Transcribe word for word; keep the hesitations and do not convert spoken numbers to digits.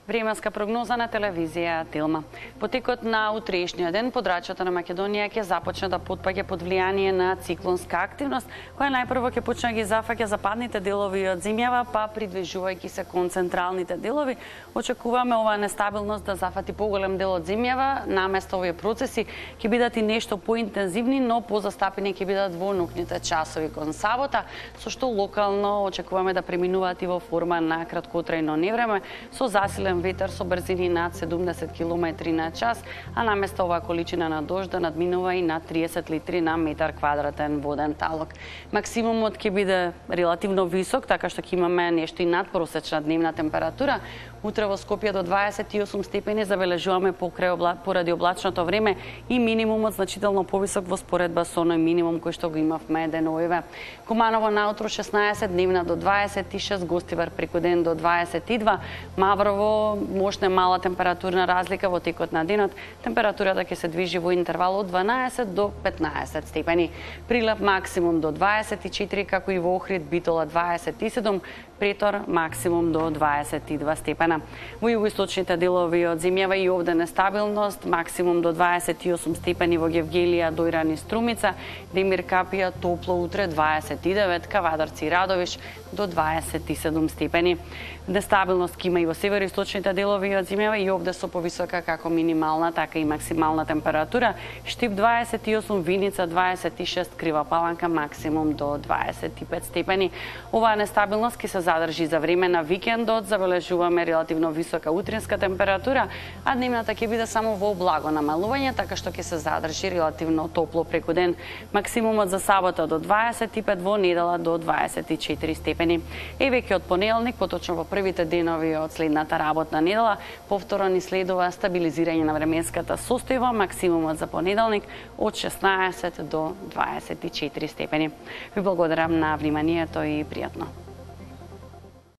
Временска прогноза на телевизија Телма. По текот на утрешниот ден подрачјата на Македонија ќе започне да потпаѓа под влијание на циклонска активност, која најпрво ќе почне ги зафаќа западните делови од земјава, па придвижувајќи се кон централните делови. Очекуваме оваа нестабилност да зафати поголем дел од земјава. Наместо овие процеси ќе бидат и нешто поинтензивни, но позастапени ќе бидат во ноќните часови кон сабота, со што локално очекуваме да преминуваат и во форма на краткотрајно невреме со засилен ветер со брзини над седумдесет километри на час, а наместо оваа количина на дожд да надминува и над триесет литри на метар квадратен воден талок. Максимумот ќе биде релативно висок, така што ќе имаме нешто и надпросечна дневна температура. Утре во Скопје до дваесет и осум степени забележуваме покрај обла... поради облачното време и минимумот значително повисок во споредба со оној минимум кој што го имавме деновиве. Куманово наутро шеснаесет, дневна до дваесет и шест, Гостивар преку ден до дваесет и два, Маврово можна мала температурна разлика во текот на денот. Температурата ќе се движи во интервал од дванаесет до петнаесет степени. Прилеп максимум до дваесет и четири, како и во Охрид, Битола дваесет и седум, Претор максимум до дваесет и два степена. Во југоисточните делови од земјава и овде нестабилност, максимум до дваесет и осум степени во Гевгелија, Дојран и Струмица, Демир Капија топло утре дваесет и девет, Кавадарци и Радовиш до дваесет и седум степени. Нестабилност ќе има и во североисточните делови од земјава и овде со повисока како минимална, така и максимална температура. Штип дваесет и осум, Виница дваесет и шест, Крива Паланка максимум до дваесет и пет степени. Оваа нестабилност ќе се задржи за време на викендот, забележуваме релативно висока утринска температура, а дневната ќе биде само во благо намалување, така што ќе се задржи релативно топло преку ден. Максимумот за сабота до дваесет и пет, во недела до дваесет и четири степени. Е веќе од понеделник, поточно во првите денови од следната работна недела, повторно ни следува стабилизирање на временската состојба, максимумот за понеделник од шеснаесет до дваесет и четири степени. Ви благодарам на вниманието и пријатно.